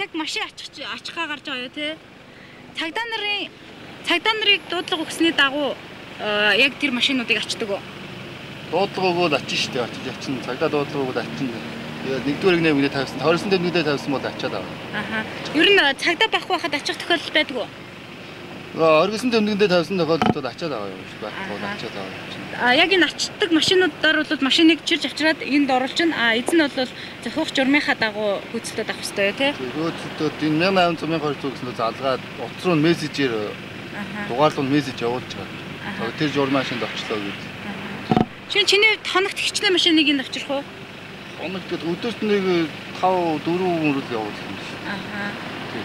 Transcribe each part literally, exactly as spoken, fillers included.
яг машин очих очихгаа гарч байгаа юу те. Цагдаа нарын цагдаа нарыг дуудлага өгсөний дагуу яг тэр машинуудыг ачдаг уу? Дуудлага өгөөд ачин штэ очиж ачин цагдаа дуудлага өгөөд ачин. Тэгээд нэгдүгээр нэг мэдээ тавьсан. Хоригсон дээр мэдээ тавьсан бол ачаад аваа. Аха. Ер нь цагдаа байхгүй байхад ачих тохиолдол байдаг уу? Оргисон дөмнөндөө тавьсан тохиолдолд ачаад аваа юм шиг байна. Ачаад аваа. А яг энэ ачдаг машинуудаар бол машиныг чирж авчираад энд оруулчихна. А эзэн нь бол зохиох журмынхаа дагуу гүйцэлдээд авах хэрэгтэй тий. Гүйцэлдээд энэ мянга айман цумын хоёр зүгснөө залгаад утас руу мессежээр дугаарлуул мессеж явуулж байгаа. Тэр журмын машинд очлоо гэж. Чин чиний хоногт хичнээн машиныг энд авчрах уу? Хоногт өдөрт нэг тав дөрвөн мөрөл явуулсан юм шиг. Аха. Тийм.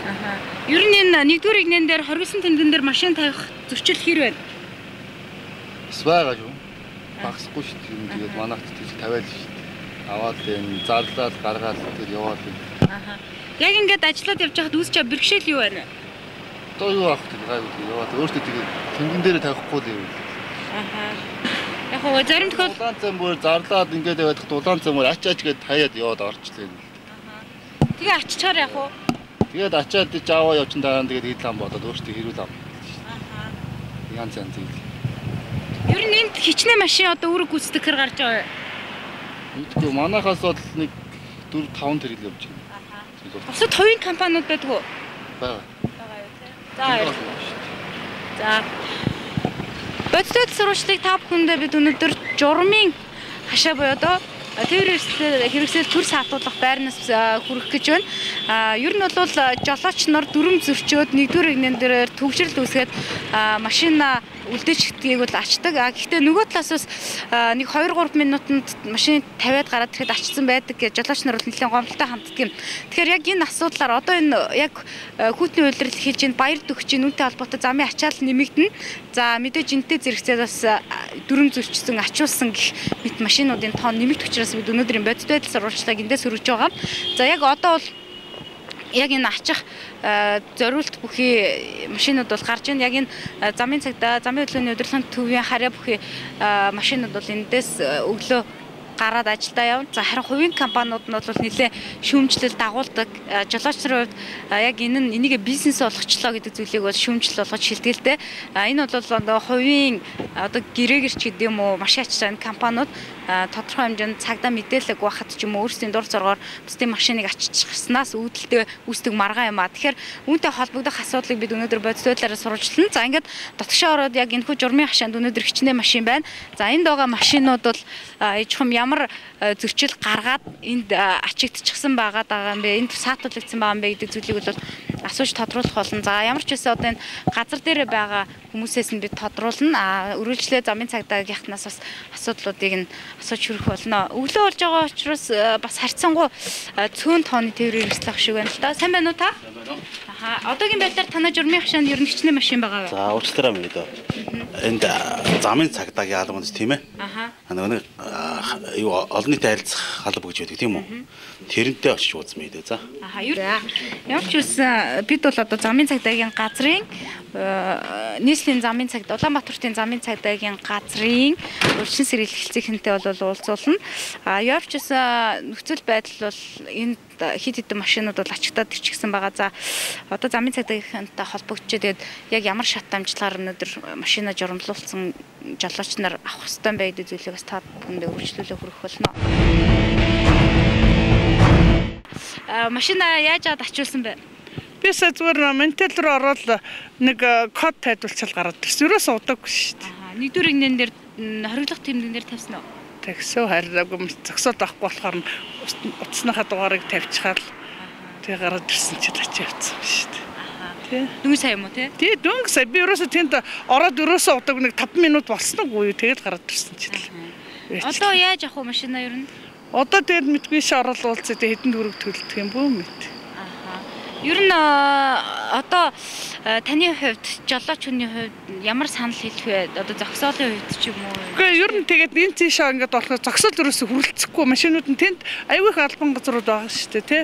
Аха. Ер нь энэ нэгдүгээр игнэн дээр хоригсон тэмдгэн дээр машин тавих зөрчил хэр байна? Свага шүү. Багсахгүй шүү дээ. Тэгээд манайх тийж тавиал шүү дээ. Аваад энэ зарлаад гаргаад тэгээд яваад юм. Аха. Яг ингээд ажиллаад явж байхад үүсч байгаа бэрхшээл юу байна? Одоо юу авах гэдэг гайгүй яваад өөртөө тэгээд тэмдгэн дээр тавихгүй л юм. Аха. Яг хоо зарим тохиол улаан цам бүр зарлаад ингээд яваад улаан цамаар ач ач гэд хаяад яваад орчлаа. Аха. Тэгээ аччихаар яг уу. Тэгээд ачаад ич аваа явчин дараа нь тэгээд идэл ам бодоод өөртөө хэрүүл ам. Аха. Янз янз юм. Ер нь энд хичнээн машин одоо үүрэг гүйцэтгэх хэр гарч байгаа юм. Мэдгүй манайхаас бол нэг дөрв таван тэрэл явж байна. Аха. Бусад хувийн компаниуд байдаг уу? Бага. Бага юу те. За. За. Бодит сурвалжлыг та бүхэндээ бид өнөөдөр журмын хашаа буюу одоо тэр хэрэгсэл төр саатуулах байрнаас хүрэх гэж байна. А ер нь бол жолооч нар дүрм зөрчөөд нэгдүгээр игнэн дээр төгжрөл үүсгээд машина үлдээчихдгийг бол ачдаг. А гэхдээ нөгөө талаас бас нэг хоёр гурав минутанд машин тавиад гараад тэгэхэд ачсан байдаг гэж жолооч нар бол нэлээд гомдолтой ханддаг юм. Тэгэхээр яг энэ асуудлаар одоо энэ яг хүүтний үйлрэл хийж ин баяр төгч ин үнтэй холбоотой замын ачаал нэмэгдэнэ. За мэдээж энтэй зэрэгцээ бас дүрм зөрчсөн ачуулсан гэх мэт машинуудын тоон нэмэгдэх учраас бид өнөөдрийн бодит байдал сурвалжлагыг эндээс өргөж байгаа. За яг одоо бол яг энэ ачих зориулт бүхий машинууд бол гарч ийн. Яг энэ замын цагдаа, замын хөдөлгөөний удирдлагын төвийн харьяа бүхий машинууд бол эндээс өглөө гараад ажилдаа явна. За харин хувийн компаниуд нь бол нэлээд шүүмжлэл дагуулдаг. Жолооч нарын хувьд яг энэ нь энийг бизнес болгочлоо гэдэг зүйлийг бол шүүмжлэл болгож шилдэгтэй. Энэ бол одоо хувийн одоо гэрээгэрч гэдэг юм уу маш ачаалал компаниуд тодорхой хэмжээнд цагдаа мэдээлэл байхад ч юм уу өөрсдийн дур зоргоор бусдын машиныг аччихснаас үүдэлтэй үүсдэг маргаан юм а. Тэгэхээр үүнтэй холбогдох асуудлыг бид өнөөдөр бодит байдлаараа сурвалжлана. За ингээд дотгошоо ороод яг энэхүү журмын хашаанд өнөөдөр хичнээн машин байна. За энд байгаа машинууд бол ээжхүм ямар зөрчил гаргаад энд ачигдчихсан байгаа даа юм бэ? Энд саатуулагдсан байгаа юм бэ гэдэг зүйлийг бол асууж тодруулах болно. За ямар ч байсан одоо энэ газар дээр байгаа хүмүүсээс нь бид тодруулна. А үргэлжлээ замын цагдаагийнхнаас бас асуудлуудыг нь асууж хүрэх болно. Өглөө болж байгаа учраас бас харьцангуй цөөн тооны тээврийн хэрэгслэх шиг байна л да. Сайн байна уу та? Сайн байна уу? Аха. Одоогийн байдлаар танай журмын хашаанд ер нь хичнээн машин байгаа юу? За уучлаарай минь дөө. Энд замын цагдаагийн албан үндэс тийм ээ. Аха. Нөгөө юу олон нийтийн харилцах алба гэж байдаг тийм үү? Тэрнтэй очиж ууцсан мэт ээ. За. Аха. Ямар ч үсэн бид бол одоо замын цагдаагийн газрын нийслэлийн замын цагдаа Улаанбаатарын замын цагдаагийн газрын урьдчилан сэргийлэх хэлцээгчтэй бол уулзуулна. А ямар ч үсэн нөхцөл байдал бол энд хит хитэн машинууд бол ачигтаад ирчихсэн байгаа. За одоо замын цагдаагийнхантай холбогдчихээ тэгээд яг ямар шат амжлагаар өнөөдөр машина журамлуулсан жолооч нар авах хэрэгтэй байх гэдэг зүйлийг бас та бүхэндээ үргэлжлүүлээ хүргэх болно. А машина яаж аваад ачуулсан бэ? Бис зүгээр ментал руу ороод нэг код тайлбарчил гараад ирсэн. Ерөөсөө удаагүй шүү дээ. Аа нэгдүгээр игнэн дээр хориглох тэмдгэн дээр тавьсан уу? Тэгсөө хараагүй зөксөд авахгүй болохоор утасныхаа дугаарыг тавьчихаар тэгээ гараад ирсэн чинь ачаа явцсан шүү дээ. Тий. Дөнгөж сая юм уу тий? Тий дөнгөж сая би ерөөсөө тэнд ороод ерөөсөө удаагүй нэг таван минут болсноогүй юу тэгээд гараад ирсэн чинь л. Одоо яаж авах вэ машина ер нь? Одоо тэгээд мэдгүй ш орол уулзаа тэгээд хэдэн дөрөв төлдөг юм бөө мэд. Ер нь одоо таны хувьд жолооч хүний хувьд ямар санал хэлэх вэ? Одоо зогсоолын хувьд ч юм уу? Үгүй ер нь тэгээд энэ тийшээ ингээд болохоор зогсоол ерөөсө хүрэлцэхгүй машинууд нь тэнд аюул их албан газрууд байгаа шүү дээ тий.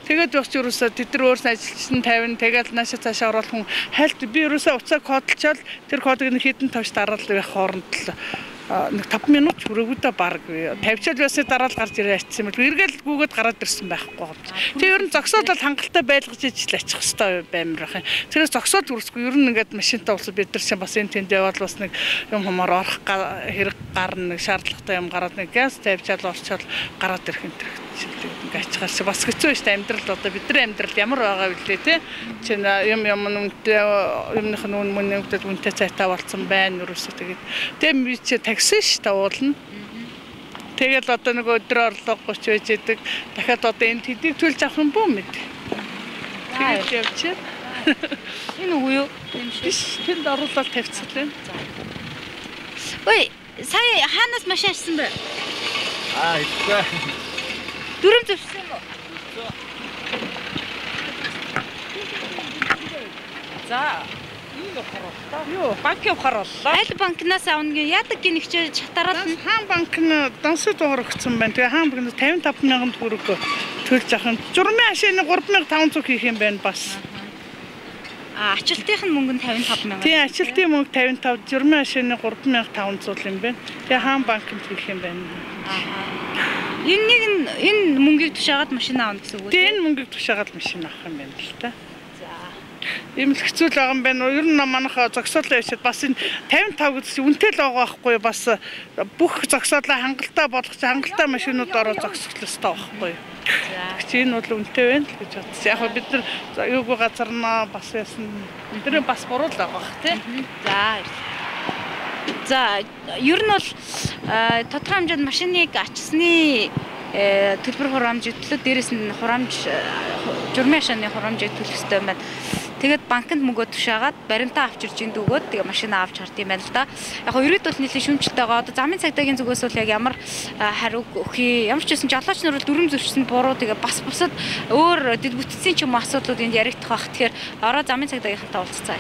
Тэгээд явж ерөөсө тэд нар өөрсдөө ажилчин тавина тэгээд наашаа цаашаа оруулах хүн хайлт би ерөөсө уцаа кодолчаал тэр кодыг нэг хэдэн тавьж дараал байх хооронд л нэг таван минут хүрээгүй да баг тавьчаал байсны дараа л гарч ирээ ачсан юм. Эргээл гүгээд гараад ирсэн байхгүй юм. Тэг ер нь зогсоод л хангалттай байлгаж ижил ачих хэвээр баймир ах. Тэрээс зогсоод үрсгүй ер нь ингээд машинтаа уулзаа бид нар чинь бас энэ тэнд яваад бас нэг юм хумаар орох хэрэг гарна нэг шаардлагатай юм гараад нэг газ тавьчаал орчоод гараад ирэх энэ төр. Ингээд ачхаас бас хэцүү шүү дээ амьдрал одоо бидний амьдрал ямар байгаа вэ те чинь юм юм үнэтэй юмных нь үн мөнөд үнэтэй цайтаа болцсон байна юусэн тэгээд тэг би чи такси ш тавуулна тэгэл одоо нэг өдөр орлого гоч байж идэг дахиад одоо энэ тэдийг төлж авах юм бүү мэд тэгээд явчих энэ үгүй юу биш тэнд оруулаад тавьчихлаа ой сая хаанаас машин авсан бэ аа ихтэй дүрм зөвсөн юм уу? За, энэ харуултаа. Юу, банк явахарлаа. Аль банкнаас авна гэ яадаг гин ихчээ чатараад нь хаан банк нь дансад уур өгсөн байна. Тэгээ хаан банк нь тавин таван мянган төгрөг төлж авах нь журмын хашааны гурван мянга таван зуун хийх юм байна бас. А ачаалтынх нь мөнгө нь тавин таван мянга. Тийм, ачаалтын мөнгө тавин таван, журмын хашааны гурван мянга таван зуун юм байна. Тэгээ хаан банкнд хийх юм байна. Аа. Энэ нэг энэ мөнгийг тушаагаад машин аавна гэсэн үг үү? Тийм, энэ мөнгийг тушаагаад машин авах юм байна л та. За. Ийм л хэцүү л байгаа юм байна. Ер нь манайхаа зогсоолоо явчихад бас энэ тавин таван гэсэн үнэтэй л байгаа байхгүй бас бүх зогсоолоо хангалттай болгож хангалттай машинууд ороо зогсох л ёстой байхгүй. За. Чи энэ бол үнэтэй байна л гэж бодсон. Яг бид нар юугүй газарнаа бас яасан. Тэр бас буруу л байгаа бах тий. За. За ер нь бол тодорхой хэмжээнд машиныг ачсны төлбөр хураамж төлөө дээрээс нь хураамж журмын хашааны хураамжийг төлөх ёстой юм байна. Тэгээд банкнд мөнгөө тушаагаад баримтаа авч ирж ин дөгөөд тэгээ машинаа авч хард юм байна л да. Яг нь ерөөд бол нэлээд шүмжлэлтэй байгаа. Одоо замын цагдаагийн зүгээс бол яг ямар хариу өгье. Ямар ч байсан жолооч нар бол дүрм зөрчсөн буруу тэгээ бас бусад өөр дэд бүтцийн ч юм асуудлууд энд яригдах байх. Тэгэхээр ороо замын цагдаагийнхантай уулзцаа.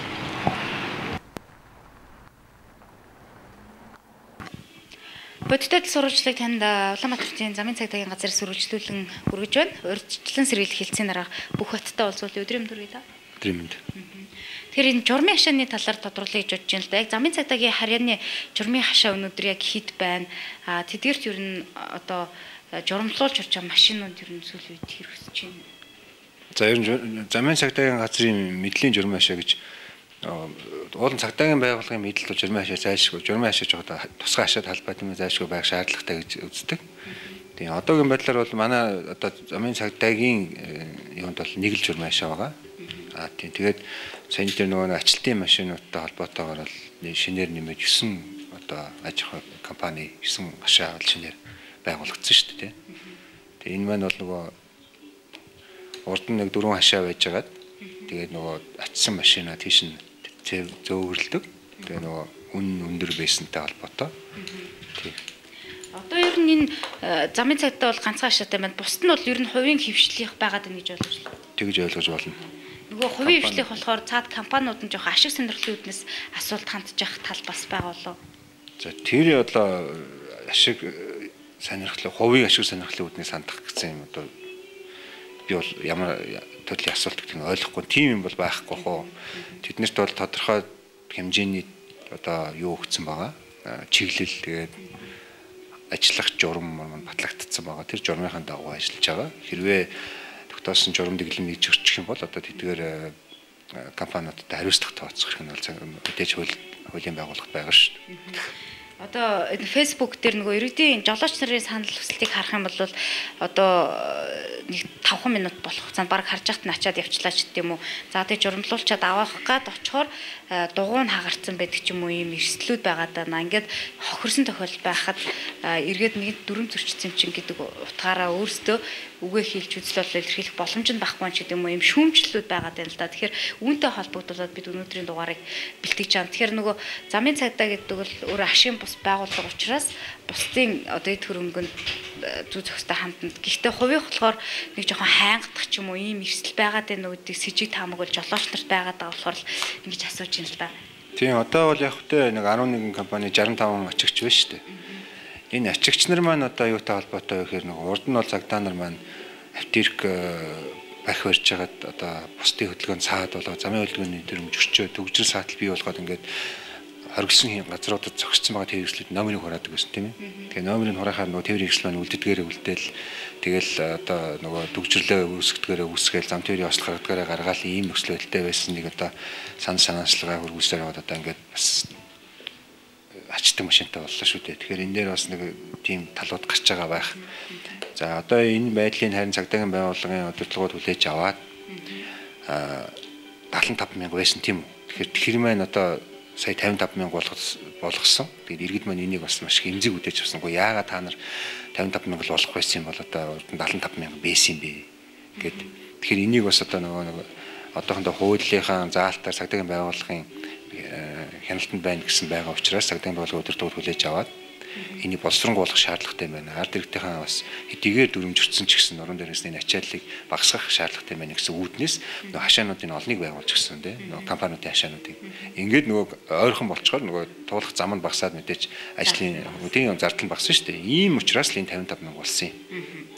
Бодиттой сурвалжлыг танд Улаанбаатарын замын цагдаагийн газраас үргэлжлүүлэн хүргэж байна. Урьдчилан сэргийлэх хэлцээний арга бүх хоттой уулзвал өдрийн өдөр ээ да. Өдрийн өдөр. Тэгэхээр энэ журмын хашааны талаар тодруулъя гэж бодож байна л да. Яг замын цагдаагийн харьяаны журмын хашаа өнөөдөр яг хэд байна? А тэдгээрт ер нь одоо журамлуулж орж байгаа машинууд ер нь сүүлийн үед хэрэгсэж байна. За ер нь замын цагдаагийн газрын мэдлийн журмын хашаа гэж уулын цагдаагийн байгууллагын мэдэлд бол журмын хашаа зайлшгүй, журмын хашаа жоо тусгай хашаад холбоотой юм зайлшгүй байх шаардлагатай гэж үздэг. Тэгээ одоогийн байдлаар бол манай одоо замын цагдаагийн юунд бол нэг л журмын хашаа байгаа. Аа тийм тэгээд сайн дээр нөгөө ачлалтын машинуудтай холбоотойгоор бол шинээр нэмээд есөн одоо аж ахуй компани есөн хашаа бол шинээр байгуулагдсан шүү дээ. Тэгээ энэ маань бол нөгөө урд нь нэг дөрвөн хашаа байж байгаад тэгээд нөгөө ачсан машинаа тийш нь зөөвөрлөдөг. Тэгээ нөгөө үн өндөр байсантай холбоотой. Тийм. Одоо ер нь энэ замын цагдаа бол ганцхан хашаатай байна. Бусд нь бол ер нь хувийн хөвшлийнх байгаад байна гэж ойлгож байна. Тэгж ойлгож болно. Нөгөө хувийн хөвшлийнх болохоор цаад компаниуд нь жоохон ашиг сонирхлын үүднээс асуулт хандж явах тал бас байгаа болов. За тэр одоо ашиг сонирхлын хувийн ашиг сонирхлын үүднээс хандах гэсэн юм одоо би бол ямар төрлийн асуулт гэдэг нь ойлгохгүй тийм юм бол байхгүй хоо. Тэднэрт бол тодорхой хэмжээний одоо юу өгсөн байгаа. Чиглэл тэгээд ажиллах журам маань батлагдсан байгаа. Тэр журмынхаа дагуу ажиллаж байгаа. Хэрвээ тогтоосон журам дэглэм хийж өччих юм бол одоо тэдгээр компаниудад хариуцлага тооцох хэрэг нь бол мэдээж хуулийн байгууллагт байгаа шүү дээ. Одоо энэ Facebook дээр нөгөө иргэдийн жолооч нарын санал хүсэлтийг харах юм бол одоо нэг тавхан минут болох хугацаанд баг харж яхад нь ачаад явчлаа ч гэдэм үү. За тэгээ журамлуулчаад авах гад очихоор дугуй нь хагарцсан байдаг ч юм уу ийм эрсдлүүд байгаа даа. Ингээд хохирсон тохиолдол байхад иргэд нэг дүрм зөрчсөн чинь гэдэг утгаараа өөрсдөө үгээ хийлж үзэл бол илэрхийлэх боломж нь байхгүй ч гэдэм үү ийм шүүмжлэлүүд байгаа даа л да. Тэгэхээр үүнтэй холбогдуулаад бид өнөөдрийн дугаарыг бэлтгэж байгаа. Тэгэхээр нөгөө замын цагдаа гэдэг бол өөр ашигын бус байгууллага учраас бусдын одоо эд хөрөнгөнд зүй зохистой хандна. Гэхдээ хувийн болохоор нэг жоохон хайнгадах ч юм уу ийм эрсдэл байгаад байна үүдийг с жиг таамаг бол жолооч нарт байгаад байгаа болохоор л ингэж асууж байна л да. Тийм одоо бол яг хөтэ нэг арван нэгэн компани шестьдесят таван ачигч байна шүү дээ. Энэ ачигч нар маань одоо юутай холбоотой вэ гэхээр нэг урд нь бол цагдаа нар маань автирк бах барьж хагаад одоо бусдын хөдөлгөөнд цаад болоо замын хөдөлгөөний дүрм зөрчөө төгжрөл саатал бий болгоод ингээд хоригдсон газруудад зогссон байгаа тээвэр хэрэгслүүд номерыг хураадаг гэсэн тийм ээ. Тэгээ номерыг хураахаар нөгөө тээвэр хэрэгсэл маань үлддгээрээ үлдээл тэгэл одоо нөгөө дүгжрлээ үүсгэдгээрээ үүсгээл зам тээврийн ослох гаргадгаараа гаргаал ийм нөхцөл байдалтай байсан нэг одоо сан санаачлага хөрвүүлсээр яваад одоо ингээд бас ачдаг машинтай боллоо шүү дээ. Тэгэхээр энэ дээр бас нэг тийм талууд гарч байгаа байх. За одоо энэ байдлын харин цагдаагийн байгууллагын удирдлагууд хүлээж аваад аа дагалан таван мянга байсан тийм үү. Тэгэхээр тэр маань одоо сая тавин таван мянга болгосон. Тэгээд иргэд маань энийг бас маш их эмзэг үдээж авсангүй. Яагаад та нар тавин таван мянга болох байсан юм бол одоо дагалан таван мянга байсан юм бэ гэд. Тэгэхээр энийг бас одоо нөгөө нэг одоохондоо хуулийнхаа заалтаар цагдаагийн байгууллагын хяналтанд байна гэсэн байгаа учраас цагдаагийн байгууллагын удирдлагууд хүлээж аваад энийг боловсронгуулах шаардлагатай байна. Ард иргэдийнхээ бас хэдийгээр дүрмжирсэн ч гэсэн нуруунд дээрээс энэ ачааллыг багасгах шаардлагатай байна гэсэн үүднээс нөгөө хашаануудын олныг байгуулж гисэн тийм нөгөө компаниудын хашаануудыг ингээд нөгөө ойрхон болчоор нөгөө туулах зам нь багасаад мэдээж ажлын үдийн зардал нь багассан шүү дээ. Ийм учраас л энэ тавин таван мянга болсон юм.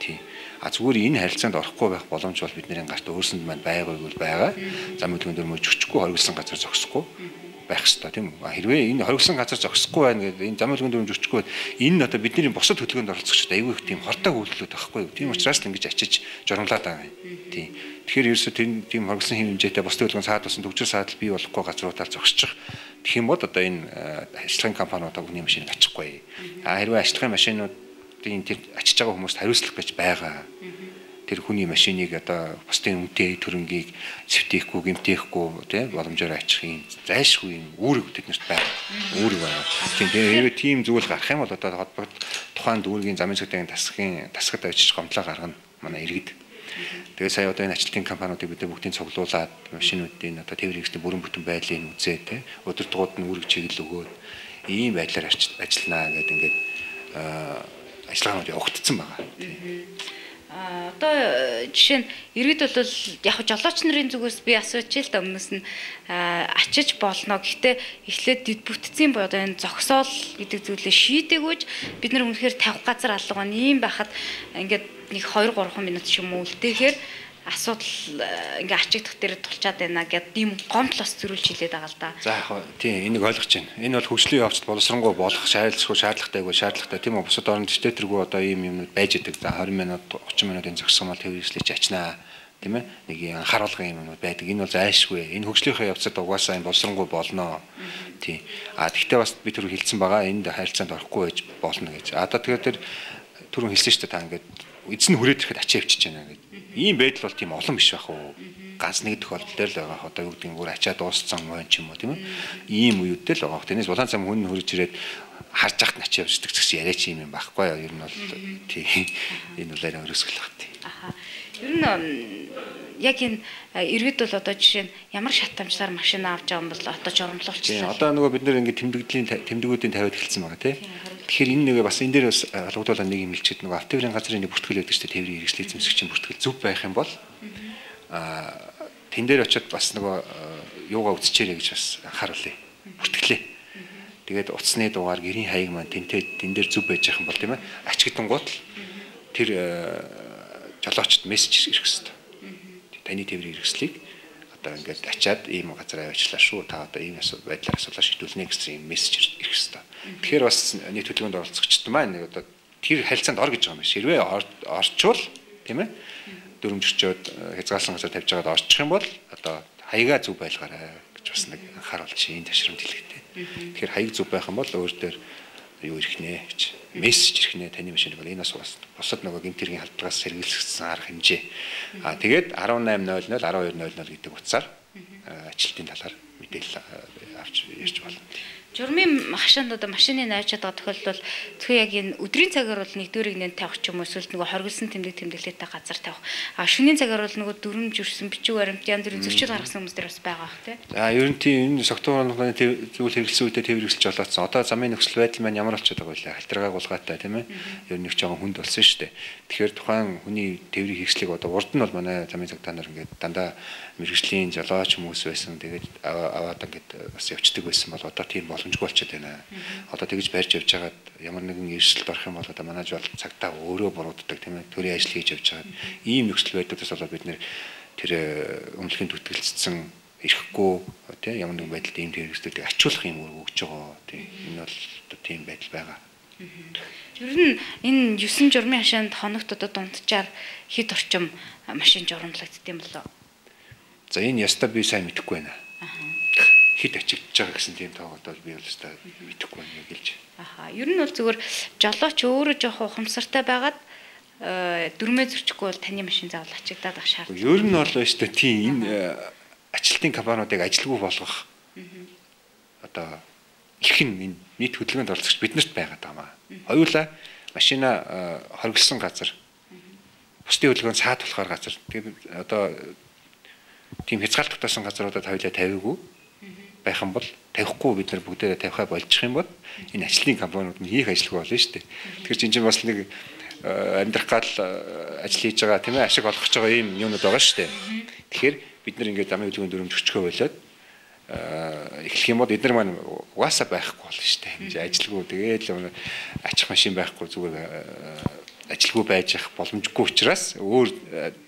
Тийм. А зүгээр энэ харилцаанд орохгүй байх боломж бол бидний гарт өөрсөнд маань байгаагүй байгаа. Зам хөдөлгөөн дээр мөж өчггүй хоригдсан газар зогсохгүй байх хэрэгтэй тийм үү. Хэрвээ энэ хоригдсан газар зогсохгүй байна гэдэг энэ зам хөдөлгөөн дээр өчггүй энэ нь одоо бидний бусад хөдөлгөөнд оролцогчд аюу их тийм хортой үйлдэлүүд байхгүй юу. Тийм учраас л ингэж ачиж журамлаад байгаа юм. Тийм. Тэгэхээр ерөөсөө тийм хоригдсан хэм хэмжээтэй бусад хөдөлгөөн саадуулсан төгжрөл саадал бий болохгүй газруудаар зогсчих. Тэгэх юм бол одоо энэ ажиллагааны компаниудаа хүний машиныг ачихгүй. А хэрвээ ажиллагааны машинуудын тэр ачиж байгаа хүмүүст хариуцлах гэж байгаа. Тэр хүний машиныг одоо бусдын үнэтэй төрөнгийг сэвтээхгүй, гэмтээхгүй тийм боломжоор ачих юм зайлшгүй юм үүрэг тэднэрт байна. Үүрэг байна. Тийм тэгээд тийм зүйл гарах юм бол одоо холбогд тухайн дүүргийн замын цагдаагийн тасгийн тасгад авчиж гомдлоо гаргана манай иргэд. Тэгээд сая одоо энэ ажилтны компаниудыг бид бүгдийг цуглуулад машинуудын одоо тээвэр хэрэгслийн бүрэн бүтэн байдлыг үзээ тийм удирдлагууд нь үүрэг чиглэл өгөөд ийм байдлаар ажилланаа гэдэг ингээд ажиллагаанууд явагдсан байгаа. Одоо жишээ нь иргэд бол яг жолооч нарын зүгээс би асууж л да өмнөөс нь ачиж болно. Гэхдээ эхлээд дэд бүтцийн бод энэ зогсоол гэдэг зүйлээ шийдээгүйж бид нар үнэхээр тавих газар алга байна. Ийм байхад ингээд нэг хоёр гурван минут ч юм уу үлдээхээр асуудал ингээ ачигдах дээр тулчаад байна гэдэг ийм гомдлос зөрүүлж хэлээд байгаа л да. За яг тийм энийг ойлгож байна. Энэ бол хөгжлийн явцад боловсронгуй болох шаардлагагүй шаардлагатайгүй шаардлагатай тийм үү бусад орнд дэвтэргүй одоо ийм юмнууд байж идэг. За двадцать минут тридцать минутын зогссон мал төвөөрслөж ачнаа тийм ээ нэг анхааруулгын юмнууд байдаг. Энэ бол зайлшгүй. Энэ хөгжлийн явцад угаасаа энэ боловсронгуй болно. Тийм. А тэгтээ бас би түр хэлсэн байгаа энд харилцаанд орохгүй байж болно гэж. А одоо тэгээд тэр түрүүн хэлсэн шүү дээ та ингээд эзэн хүрээд ирэхэд ачаа авчиж байна гэдэг. Ийм байдал бол тийм олон биш байх уу? Ганц нэг тохиолдол дээр л байгаа. Одоо юу гэдэг нь бүр ачаа дууссан мөн ч юм уу тийм ээ. Ийм үеүдтэй л байгаа. Тэрнээс улаан цам хүн хөрж ирээд харж яхад ачаа авчдаг гэсэн яриач юм байхгүй юу? Ер нь бол тийм энэ бол арай өрөөсгөл баг тийм. Аха. Ер нь яг энэ иргэд бол одоо жишээ нь ямар шатамжлаар машина авч байгаа юм бол одоо журамлуулчихсан. Одоо нөгөө бид нэр ингээд тэмдэгдлийн тэмдэгүүдийн тавиад эхэлсэн байгаа тийм. Тэгэхээр энэ нэг бас энэ дээр бас алгадуулаад нэг юм хэлчихэд нөгөө автоврын газрын нэг бүртгэл байдаг шүү дээ тээврийн хэрэгслийн эзэмшигчийн бүртгэл зөв байх юм бол аа тэн дээр очиод бас нөгөө юугаа үзчихээрэй гэж бас анхааруулъя. Бүртгэлээ. Тэгээд утасны дугаар гэрийн хаяг маань тэнтэй тэн дээр зөв байж байгаа юм бол тийм ээ. Ачигдангууд тэр жолоочд мессеж ирэх хэрэгтэй. Таны тээврийн хэрэгслийг одоо ингээд ачаад ийм газар аваачлаа шүү. Та одоо ийм байдлаар асуулаа шийдүүлнэ гэсэн юм мессеж ирэх хэрэгтэй. Тэгэхээр бас нийт хөдөлгөөнд оролцогчд маань нэг одоо тэр харилцаанд ор гэж байгаа юм биш. Хэрвээ орчвол тийм ээ дөрөмжөрчөөд хязгаарласан газар тавьж байгаад орчих юм бол одоо хаягаа зөв байлгаарай гэж бас нэг анхааруулж энэ ташрамд хэлэхтэй. Тэгэхээр хаяг зөв байх юм бол өөр дээр юу ирэх нэ гэж мессеж ирэх нэ таны машиныг бол энэ бас бусад нөгөө гэмтэргийн халдлагаас сэргийлсэн арга хэмжээ. Аа тэгээд десять ноль ноль twelve ноль ноль гэдэг утсаар ажилтны талаар мэдээлэл авч ирж болно. Журмын хашаанд одоо машины найчаад байгаа тохиолдол зөвхөн яг энэ өдрийн цагаар бол нэгдүгээрийг нэн тавих ч юм уу эсвэл нөгөө хоригдсан тэмдэг тэмдэглэлтэй газар тавих. А шөнийн цагаар бол нөгөө дүрм жүрсэн бичиг баримт янз бүрийн зөрчил гаргасан хүмүүс дээр бас байгаа бах тий. За ер нь тийм энэ согтуур орны зүйл хэрэгэлсэн үедээ тээвэр хэрэгсэлж болоодсон. Одоо замын нөхцөл байдал маань ямар болчиход байгаа вэ? Халтрагааг улгаатай тийм ээ. Ер нь их жоохон хүнд болсон шүү дээ. Тэгэхээр тухайн хүний тээврийн хэрэгслийг одоо урд нь бол манай замын цагтаа нар ингээд дандаа мэрэгжлийн жолооч хүмүүс байсан. Тэгээд аваад ингээд бас явцдаг байсан бол одоо тийм боломжгүй болчиход байна. Одоо тэгж барьж явж байгаад ямар нэгэн эрсдэлд орох юм бол одоо манайж бол цагтаа өөрөө бурууддаг тийм ээ. Төрийн ажил хийж явж байгаа. Ийм нөхцөл байдлаас болоод бид нэр тэр өмнөхийн түтгэлцсэн ирэхгүй тий ямар нэгэн байдалд ийм хэрэгслүүдийг ачуулах юм өгч байгаа тий энэ бол одоо тийм байдал байгаа. Ер нь энэ юусэн журмын хашаанд хоногт одоо дунджаар хэд орчим машин журамлагддаг юм болоо. За энэ ястаа би сайн мэдэхгүй байна. Хэд ачигдж байгаа гэсэн тийм тоогод бол би бол ястаа мэдэхгүй байна гэлж. Аха. Ер нь бол зүгээр жолооч өөрөө жоох ухамсартай байгаад дөрмөө зөрчихгүй бол таны машин заавал ачигдаад ах шаардлага. Ер нь бол ястаа тийм энэ ажилтны компаниудыг ажилгүй болгох одоо эрхэн энэ нийт хөдөлгөөнд оролцогч биднэрт байгаад байгаа юм. Хоёулаа машина хоригдсан газар бусдын хөдөлгөөнд саад болохоор газар тэгээд одоо тийм хязгаалт тутаасан газруудад хоёулаа тавиагүй байх юм бол тавихгүй бид нар бүгдээрээ тавихаа болчих юм бол энэ ажлын компаниуд нь хийх ажилгүй болно шүү дээ. Тэгэхээр чинь чинь бас нэг амьдрах гал ажил хийж байгаа тийм ээ ашиг олгож байгаа юм юмнууд байгаа шүү дээ. Тэгэхээр бид нар ингээд замын хөдөлгөөнд дөрөмж өчгөө болоод эхлэх юм бол эдгээр маань угаасаа байхгүй болно шүү дээ. Ингээд ажилгүй тэгээд л ачих машин байхгүй зүгээр ажилгүй байж явах боломжгүй учраас өөр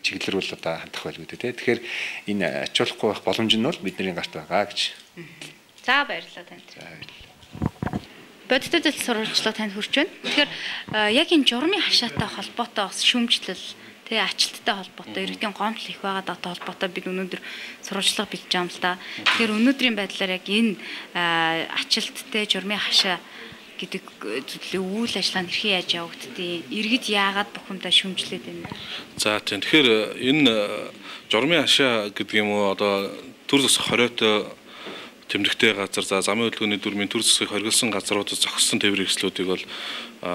чиглэлэр бол одоо хандах байлгүй дээ. Тэгэхээр энэ ачуулахгүй байх боломж нь бол бидний гарт байгаа гэж. За баярлалаа танд. За баярлалаа. Бодит төдөл сурвалжлага танд хүрч байна. Тэгэхээр яг энэ журмын хашаатай холбоотой бас шүүмжлэл тэгээ ачлттай холбоотой иргэдийн гомдол их байгаад одоо холбоотой бид өнөөдөр сурвалжлага бэлж байгаа юм л да. Тэгэхээр өнөөдрийн байдлаар яг энэ ачлттай журмын хашаа гэдэг зүйлээ үйл ажиллагаанд хэрхэн яаж явагддгийг иргэд яагаад бухимдаа шүүмжлээд байна. За тийм. Тэгэхээр энэ журмын хашаа гэдэг юм уу одоо төр зас хориотой тэмдэгтэй газар за замын хөдөлгөөний дүрмийн төр засгийг хоригдсан газруудад зогссон тээвэр хэрэгслүүдийг бол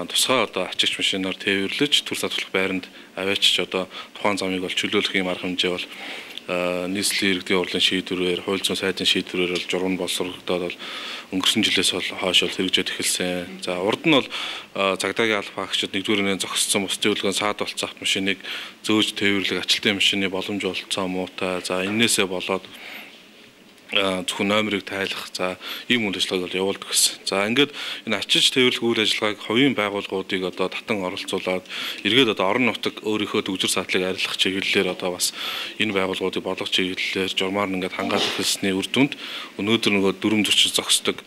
тусгай одоо ачигч машинаар тээвэрлэж төр сатуулах байранд аваачиж одоо тухайн замыг бол чөлөөлөх юм арга хэмжээ бол нийслэлийн иргэдийн урлын шийдвэрээр хууль зүйн сайдын шийдвэрээр бол журам боловсрогдоод бол өнгөрсөн жилээс хойш бол хэрэгжээд эхэлсэн. За урд нь бол цагдаагийн алба агчид нэгдүгээр нь зогссон бусдын хөдөлгөөнд саад болцсон автомашиныг зөөж тээвэрлэх ачилтын машины боломж олцсон муутай. За энээсээ болоод зөвхөн номерыг тайлах за ийм үйл ажиллагааг бол явуулдаг гэсэн. За ингээд энэ ачиж тээвэрлэх үйл ажиллагааг хувийн байгууллагуудыг одоо татан оролцуулаад эргээд одоо орон нутаг өөрийнхөө төгжир саатлыг арилгах чиглэлээр одоо бас энэ байгууллагуудыг болгох чиглэлээр журмаар ингээд хангаад эхэлсний үр дүнд өнөөдөр нөгөө дүрм зөрчил зогсдог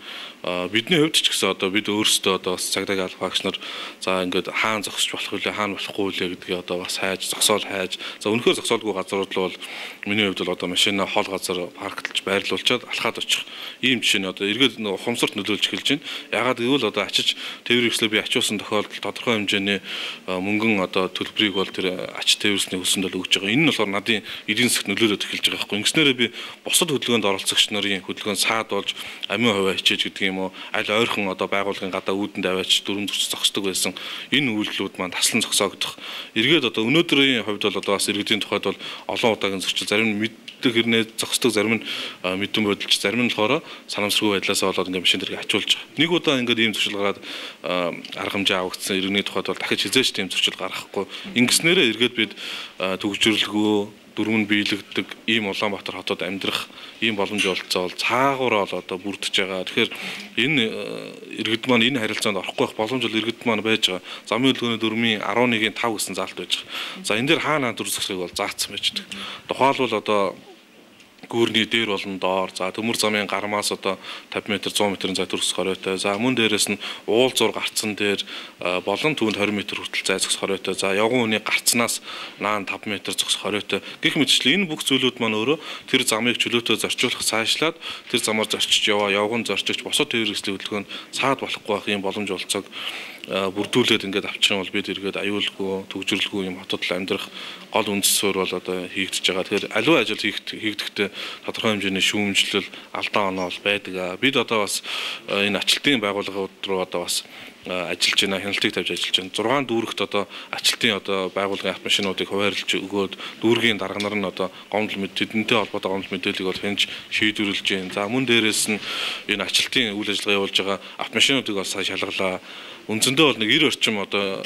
бидний хувьд ч гэсэн одоо бид өөрсдөө одоо бас цагдаагийн алба агч нар за ингээд хаана зогсож болох вэ хаана болохгүй вэ гэдгийг одоо бас хайж зогсоол хайж за өнөхөр зогсоолгүй газрууд л бол миний хувьд бол одоо машина хол газар парклж байрлуулчаад алхаад очих ийм жишээ нь одоо эргээд нэг ухамсарт нөлөөлж эхэлж байна. Ягаад гэвэл одоо ачиж тээвэр хэрэгслээ би ачуулсан тохиолдолд тодорхой хэмжээний мөнгөн одоо төлбөрийг бол тэр ач тээвэрсний хүсэнд бол өгж байгаа. Энэ нь болохоор надын эдийн засгт нөлөөлөд эхэлж байгаа байхгүй. Ингэснээрээ би бусад хөдөлгөөнд оролцогч нарын хөдөлгөөнд саад болж амин хувиа хичээж гэдэг юм уу аль ойрхон одоо байгууллагын гадаа үүдэнд аваач дүрм зөрчил зогсдог байсан. Энэ үйлдэлүүд маань таслан зогсоогдох. Эргээд одоо өнөөдрийн хувьд бол одоо бас иргэдийн тухайд бол олон удаагийн зөрчил зарим нь мэддэг хэрнээ зогсдог зарим нь мэдэн бодолч зарим нь болохоор санамсаргүй байдлаасаа болоод ингээд машин дэргээ ачуулж байгаа. Нэг удаа ингээд ийм зөрчил гараад арга хэмжээ авагдсан иргэний тухайд бол дахиж хизээч тийм зөрчил гаргахгүй. Ингэснээрээ эргээд бид төгжрөлгөө дүрмэн биелэгддэг ийм Улаанбаатар хотод амьдрах ийм боломж олцоо бол цаагаараа л одоо бүрдэж байгаа. Тэгэхээр энэ иргэд маань энэ харилцаанд орохгүй байх боломж бол иргэд маань байж байгаа. Замын хөдөлгөөний дүрмийн арван нэгний тав гэсэн заалт байж байгаа. За энэ дээр хаана дүр зохисыг бол заасан байж байгаа. Тухайлбал одоо гүүрний дээр болон доор за төмөр замын гармаас одоо тавьд метр зуун метрийн зай төрөх хоройтой за мөн дээрээс нь уул зур гарцсан дээр болон түүнд двадцать метр хүртэл зай зогсох хоройтой за явган хүний гарцнаас наан тавд метр зогсох хоройтой гэх мэтчлэн энэ бүх зүйлүүд маань өөрөө тэр замыг чөлөөтэй зорчуулах цаашлаад тэр замаар зорчиж яваа явган зорчигч босод тээвэр хэрэгслийн хөдөлгөөнд саад болохгүй байх юм боломж олцоог бүрдүүлээд ингээд авчихсан бол бид эргээд аюулгүй төгжрөлгүй юм хотод амьдрах гол үндэс суурь бол одоо хийгдэж байгаа. Тэгэхээр аливаа ажил хийгдэхдээ тодорхой хэмжээний шүүмжлэл алдаа оноо бол байдаг. Бид одоо бас энэ ачлалтын байгууллагууд руу одоо бас ажиллаж байна, хяналтыг тавьж ажиллаж байна. зургаан дүүрэгт одоо ачлалтын одоо байгууллагын автомашинуудыг хуваарлж өгөөд дүүргийн дарга нар нь одоо гомдол мэдээлэлтэй холбоотой гомдол мэдээллийг бол хянж шийдвэрлэж байна. За мөн дээрээс нь энэ ачлалтын үйл ажиллагаа явуулж байгаа автомашинуудыг бас шалгалаа. Үндсэндээ бол нэг девяносто орчим одоо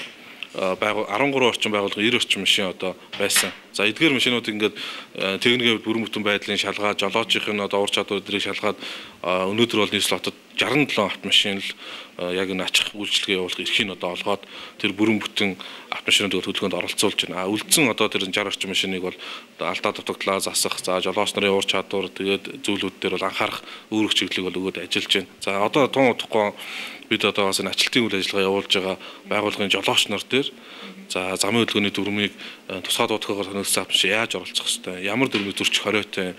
байгуул арван гурван орчим байгууллага нব্бэ орчим машин одоо байсан. За эдгээр машинууд ингээд техникийн бүрэн бүтэн байдлын шалгаад, жолоочийн одоо ур чадвар эдрийг шалгаад өнөөдөр бол нийслэл хотод шестдесет седем автомашин л яг энэ ачих үйлчлэгээ явуулах эрхийг одоо олгоод тэр бүрэн бүтэн автомашинуудыг хөдөлгөөнд оролцуулж байна. А үлдсэн одоо тэр шестьдесят орчим машиныг бол алдаа дутагдлаа засах, за жолооч нарын ур чадвар тэгээд зүйлүүд дээр бол анхаарах үүрэг чиглэлийг бол өгөөд ажиллаж байна. За одоо тун утгагүй бид одоо бас энэ ачлалтын үйл ажиллагаа явуулж байгаа байгууллагын жолооч нар дээр за замын хөдөлгөөний дүрмийг тусгай дуудлагаар сонирхсан автомашин яаж оролцох хэвтэй, ямар дүрмийг зөрчих хориотой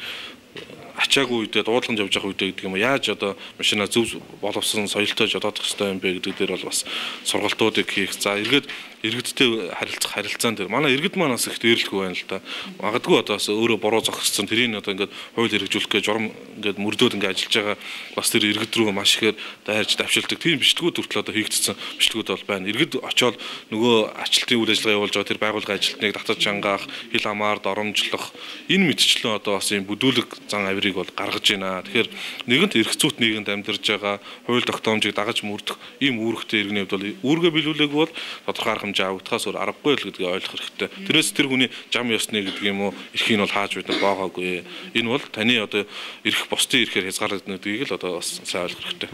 ачаагүй үедээ дуудлаганд явж байгаа үедээ гэдэг юм яаж одоо машина зөв боловсон соёлтой жолоодох хэвтэй юм бэ гэдэг дээр бол бас сургалтуудыг хийх. За эргээд иргэдтэй харилцах харилцаан дээр манай иргэд манаас их дээрлэхгүй байна л да. Магадгүй одоо бас өөрөө бороо зогссон тэрийг одоо ингээд хууль хэрэгжүүлэх гэж журам ингээд мөрдөөд ингээд ажиллаж байгаа бас тэр иргэд рүү маш ихээр дайрч давшилдаг тийм бичлэгүүд хүртэл одоо хийгдсэн бичлэгүүд бол байна. Иргэд очоод нөгөө ачлалтын үйл ажиллагаа явуулж байгаа тэр байгууллагын ажилтныг татаж чангаах, хил хамаар доромжлох энэ мэтчлэн одоо бас юм бүдүүлэг зан авирыг бол гаргаж байна. Тэгэхээр нэгэнт эрх зүйт нийгэмд амьдарж байгаа хууль тогтоомжийг дагаж мөрдөх ийм үүрэгтэй иргэний хувьд бол үүргээ биелүүлээгүй бол тодорхой арга хэмжээ авагдахаас өөр аргагүй л гэдгийг ойлгох хэрэгтэй. Тэрээс тэр хүний зам ёсны гэдэг юм уу эрхийг нь бол хааж байдаг байгаагүй. Энэ бол таны одоо эрх бусдын эрхээр хязгаарлагдана гэдгийг л одоо бас сайн ойлгох хэрэгтэй.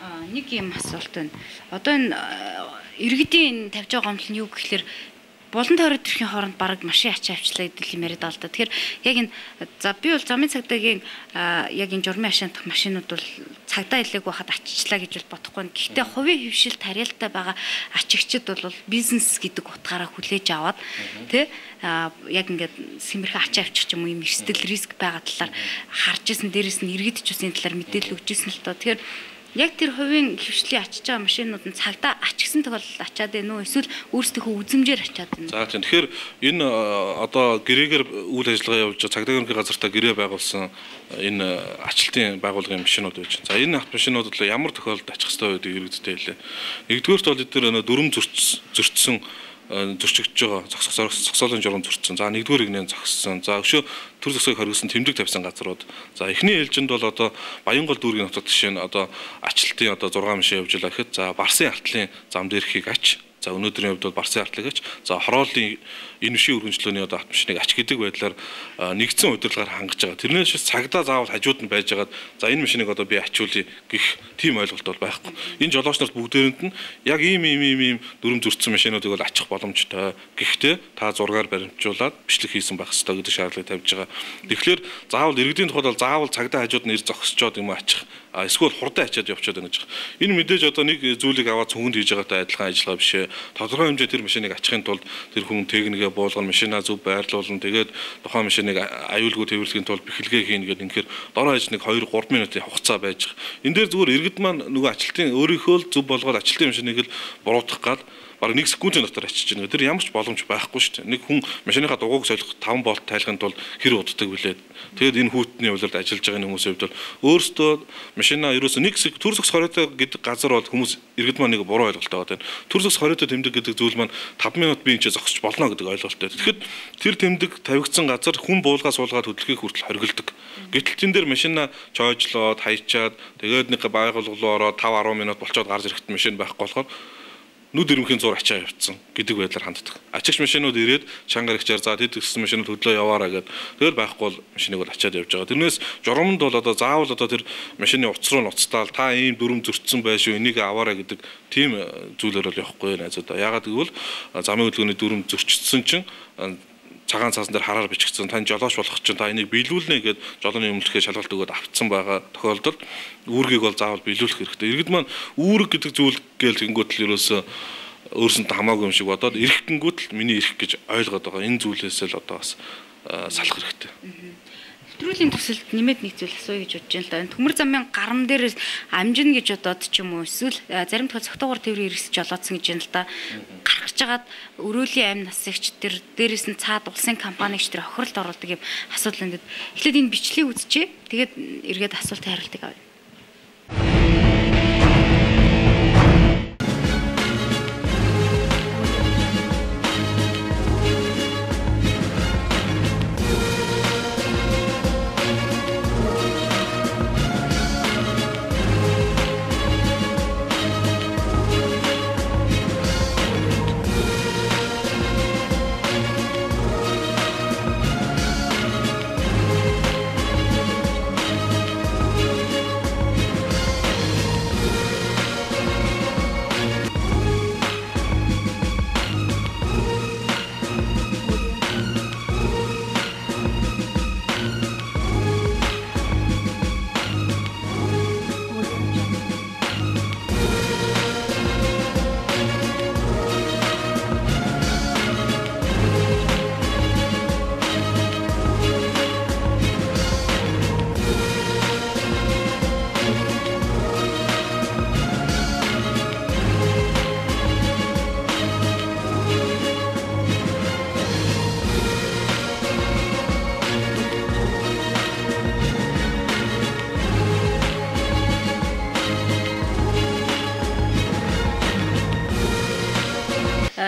Аа нэг юм асуулт байна. Одоо энэ иргэдийн тавьж байгаа гомдол нь юу гэхээр болон тойрог төрхийн хооронд бараг машин ачаа авчлаа гэдэг юм яриад байгаа л да. Тэгэхээр яг энэ за би бол замын цагдаагийн яг энэ журмын ашиглах машинууд бол цагдаа хэлээг байхад аччлаа гэж бол бодохгүй. Гэхдээ хувийн хөвшил тариалтай байгаа ачигчид бол бизнес гэдэг утгаараа хүлээж аваад тий яг ингээд сэмэрхэн ачаа авчих юм уу юм эрсдэл риск байгаа талаар харж исэн, дээрэс нь иргэд ч үсэн талаар мэдээлэл өгч исэн л тоо. Тэгэхээр яг тэр хувийн хөвшлийн ачиж байгаа машинууд нь цагдаа ачигсан тохиолдолд ачаад байна уу эсвэл өөрсдийнхөө үзмжээр ачаад байна. За тийм. Тэгэхээр энэ одоо гэрээгээр үйл ажиллагаа явуулж байгаа цагдаагийн газартаа гэрээ байгуулсан энэ ачлалтын байгууллагын машинууд байж байна. За энэ автомашинууд бол ямар тохиолдолд ачих ёстой байдгийг иргэдтэй хэлээ. Нэгдүгээрт бол эдгээр дүрм зөрчсөн зөрчигдөж байгаа зогсоолын журам зөрчсөн. За нэгдүгээр игнээ зогссон. За өшөө төр зогсоог хоригсон тэмдэг тавьсан газрууд. За эхний ээлжинд бол одоо Баянгол дүүргийн хотод жишээ нь одоо ачлалтын одоо зургаан машин явж байгаа гэхэд за Барсын артлын зам дээрхийг ач. За өнөөдрийн хувьд бол Барсын артлыг ач. За хорооллын энэ шин өргөнчлөөний одоо автомашиныг ач гэдэг байдлаар нэгдсэн удирдлагаар хангаж байгаа. Тэрнээс шээс цагдаа заавал хажууд нь байж байгаад за энэ машиныг одоо би ачуулъя гэх тийм ойлголт бол байхгүй. Энэ жолооч нарт бүгдээрэнд нь яг ийм ийм ийм ийм дүрм зөрчсөн машинуудыг бол ачих боломжтой. Гэхдээ та зургаар баримтжуулаад бичлэг хийсэн байх ёстой гэдэг шаардлагыг тавьж байгаа. Тэгэхээр заавал иргэдийн тухайд бол заавал цагдаа хажууд нь ир зогсчоод юм ачих. А эсвэл хурдан ачаад явчихад байна гэж. Энэ мэдээж одоо нэг зүйлийг аваад цүнхэнд хийж байгаатай адилхан ажиллагаа биш ээ. Тодорхой хэмжээ тэр машиныг ачихын тулд тэр хүн техникээ буулгана, машинаа зөв байрлуулна. Тэгээд тухайн машиныг аюулгүй төвөрлөхийн тулд бэхэлгээ хийнэ гэдэг ингээд дор хаяж нэг two three минутын хугацаа байж байгаа. Энд дээр зүгээр иргэд маань нөгөө ачлалтын өөрийнхөө л зөв болгоод ачлалтын машиныг л буруутгах гал бараг нэг секундын дотор ачиж байна. Тэр ямар ч боломж байхгүй шүү дээ. Нэг хүн машиныхаа дугуйг солих five болт тайлахын тулд хэр уддаг вүлээ. Тэгээд энэ хүүтний хувьд ажиллаж байгаа хүмүүсийн хувьд бол өөрөөсөө машина ерөөсөө нэг төр зогс хориотой гэдэг газар бол хүмүүс иргэд маань нэг буруу ойлголттой байгаа. Төр зогс хориотой тэмдэг гэдэг зүйл маань five минут би энэ ч зогсож болно гэдэг ойлголттой. Тэгэхэд тэр тэмдэг тавигдсан газар хүн буулгаа суулгаад хөдөлгөхийг хүртэл хоригддаг. Гэтэл тэн дээр машина чойжлоод хайчаад тэгээд нэг байгууллага руу ороод five ten минут болцоод гарч ирэхэд машин байхгүй болохоор нүд ирмхийн зур ачаа явцсан гэдэг байдлаар ханддаг. Ачигч машинууд ирээд чангаар ихчээр за тэд гэсэн машинууд хөдлөө яваараа гэдэг. Тэгэл байхгүй бол машиныг бол ачаад явж байгаа. Тэрнээс журамд бол одоо заавал одоо тэр машины утас руу ноцтаал та ийм дүрм зөрчсөн байшгүй энийг аваараа гэдэг тийм зүйлээр бол явахгүй найзуудаа. Яагаад гэвэл замын хөдөлгөөний дүрм зөрчсөн чинь цагаан цаасан дээр хараар бичигдсэн тань жолооч болох чинь та энийг биелүүлнэ гэд жолооны өмнөлөхөө шалгалт өгөөд автсан байгаа тохиолдолд үүргийг бол заавал биелүүлэх хэрэгтэй. Иргэд маань үүрэг гэдэг зүйл гээл гингүүтэл ерөөсөө өөрсөнд хамаагүй юм шиг бодоод эрх гингүүтэл миний эрх гэж ойлгоод байгаа. Энэ зүйлээс л одоо бас салах хэрэгтэй. Нэвтрүүлгийн төсөлд нэмээд нэг зүйл асууя гэж бодож байна л да. Энэ төмөр замын гарам дээрээс амжина гэж бодоод ч юм уу эсвэл зарим тохиол цогтойгоор тээврийн эрсэж жолоодсон гэж байна л да. Гаргаж жагаад өрөөлийн амь насагч тэр дээрээс нь цаад улсын компанигч тэр хохиролд оруулдаг юм асуудал энэ. Эхлээд энэ бичлэгийг үзчихье. Тэгээд эргээд асуултын хариултыг авъя.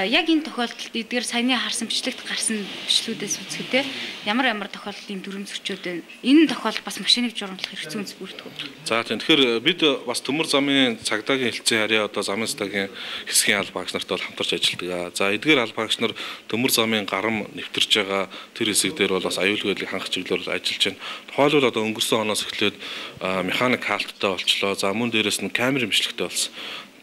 яг энэ тохиолдолд эдгээр саяны харсан бичлэгт гарсан бичлүүдээс үзэхдээ ямар ямар тохиолдлын дүрм зөрчөөд байна. Энэ тохиолдол бас машиныг журамтлах хэрэгцээ үнс бүрддэг. За тийм. Тэгэхээр бид бас төмөр замын цагдаагийн хэлцээ харьяа одоо замын цагдаагийн хэсгийн алба багш нартай бол хамтарч ажилладаг. За эдгээр алба багш нар төмөр замын гарам нэвтэрж байгаа тэр хэсэг дээр бол бас аюулгүй байдлыг хангах чиглэлээр ажиллаж байна. Тухайлбал одоо өнгөрсөн оноос эхлээд механик хаалттай болчлоо. За мөн дээрэс нь камерын бичлэгтэй болсон.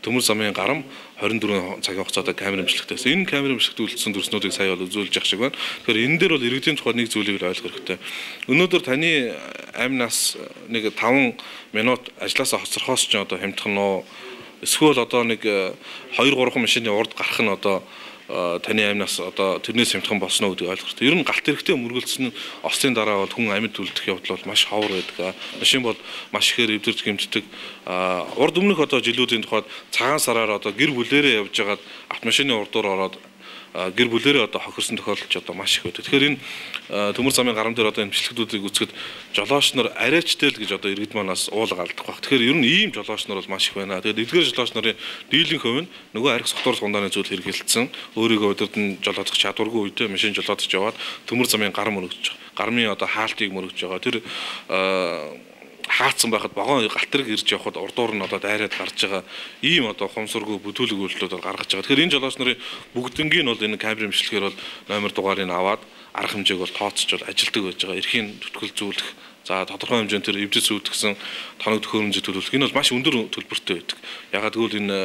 Төмөр замын гарам хорин дөрвөн цагийн хугацаанд камер имжлэгтээс энэ камер имжлэгт үлдсэн дүрснүүдийг сая бол үзүүлж явах шиг байна. Тэгэхээр энэ дээр бол иргэдийн тухай нэг зүйлийг ойлгох хэрэгтэй. Өнөөдөр таны амнаас нэг таван минут ажилласаа хоцорхоос ч одоо хямдхан нөө эсвэл одоо нэг хоёр гурван машины урд гарах нь одоо таны амнаас одоо тэрнээс хямдхан болсноо гэдгийг ойлгох хэрэгтэй. Ер нь галт хэрэгтэй мөргөлдсөн ослын дараа бол хүн амьд үлдэх явдал бол маш ховор байдаг. Машин бол маш ихээр эвдэрч гэмтдэг. Урд өмнөх одоо жилүүдийн тухайд цагаан сараар одоо гэр бүлээрээ явж байгаад автомашины урдуур ороод гэр бүлээрээ одоо хохирсон тохиолдол одоо маш их байдаг. Тэгэхээр энэ төмөр замын гарам дээр одоо энэ бичлэгдүүдийг үзэхэд жолооч нар арайчтай л гэж одоо иргэд манаас уулга алдах баг. Тэгэхээр ер нь ийм жолооч нар бол маш их байна. Тэгээд эдгээр жолооч нарын дийлэн хувь нь нөгөө арх согтуур сундааны зүйл хэрэгэлсэн. Өөрийгөө удирдан жолоодох чадваргүй үедээ машин жолоодож яваад төмөр замын гарам мөрөгдөж байгаа. Гармын одоо хаалтыг мөрөгдөж байгаа. Тэр хаацсан байхад вагон галтрыг ирж явхад урдуур нь одоо дайраад гарч байгаа ийм одоо хумсургүй бүдүүлэг үйлдэлүүд гаргаж байгаа. Тэгэхээр энэ жолооч нарын бүгднгийн бол энэ камерын бичлэгээр бол номер дугаарыг аваад арга хэмжээг бол тооцож бол ажилдаг байж байгаа. Эрхийн төтгөл зүүлэх, за тодорхой хэмжээнд тэр эвдэс үүдгсэн тоног төхөөрөмжөд төлөвлөх энэ бол маш өндөр төлбөртэй байдаг. Ягаад гэвэл энэ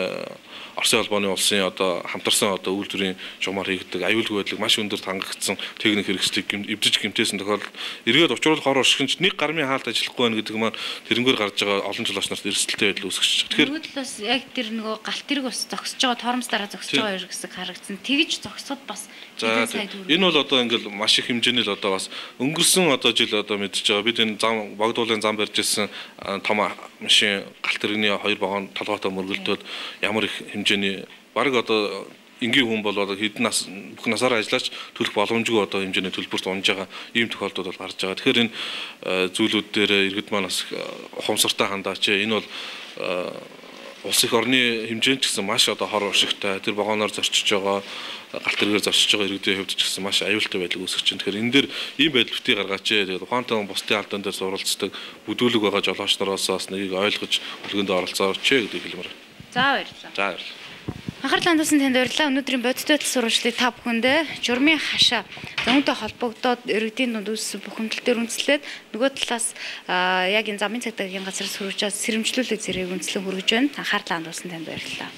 Оросын холбооны улсын одоо хамтарсан одоо үйлдвэрийн жумаар хийгддэг аюулгүй байдлыг маш өндөр хангагдсан техник хэрэгслийг эвдэж гэмтээсэн тохиолдолд эргээд учруулах хор оршигч нэг гармын хаалт ажиллахгүй байна гэдэг маань тэрнгээр гарч байгаа олон жолооч нарт эрсдэлтэй байдал үүсгэж байгаа. Тэгэхээр бас яг тэр нөгөө галт тэрэг бас зогсож байгаа тоормс дараа зогсож байгаа хэрэгсэг харагдсан. Тэгж зогсоход бас энэ бол одоо ингээл маш их хэмжээний л одоо бас өнгөрсөн одоо жил одоо мэдчихэж байгаа. Бид энэ зам богдуулын зам барьж ирсэн том машин галт тэрэгний хоёр вагон толгойтой мөргөлдөөд ямар их хэмжээний баг одоо энгийн хүн бол одоо хэдэн нас бүх насаараа ажиллаж төлөх боломжгүй одоо хэмжээний төлбөрт унж байгаа ийм тохиолдол бол гарч байгаа. Тэгэхээр энэ зүйлүүд дээр иргэд манаас ухамсартай хандаач. Энэ бол улс их орны хэмжээнд ч гэсэн маш одоо хор уршигтай тэр вагоноор зорчиж байгаа галт тэргээр зорчиж байгаа иргэдийн хувьд ч гэсэн маш аюултай байдал үүсгэж байна. Тэгэхээр энэ дээр ийм байдал битгий гаргаач. Тэгээд ухаантай бусдын алдаан дээр суралцдаг бүдүүлэг байгаа жолооч нараас бас нэгийг ойлгож үлгэнд оролцооч гэдэг хэлмээр. За баярлалаа. За баярлалаа. Анхаарал хандуулсан танд баярлалаа. Өнөөдрийн бодиттой сурвалжлыг та бүхэндээ журмын хашаа зөнтэй холбогдоод иргэдийн дунд үүссэн бухимдал дээр үндэслээд нөгөө талаас яг энэ замын цагдаагийн газраас хүргэж сэрэмжлүүлэг зэрэг үндэслэн хүргэж байна. Анхаарал хандуулсан танд баярлалаа.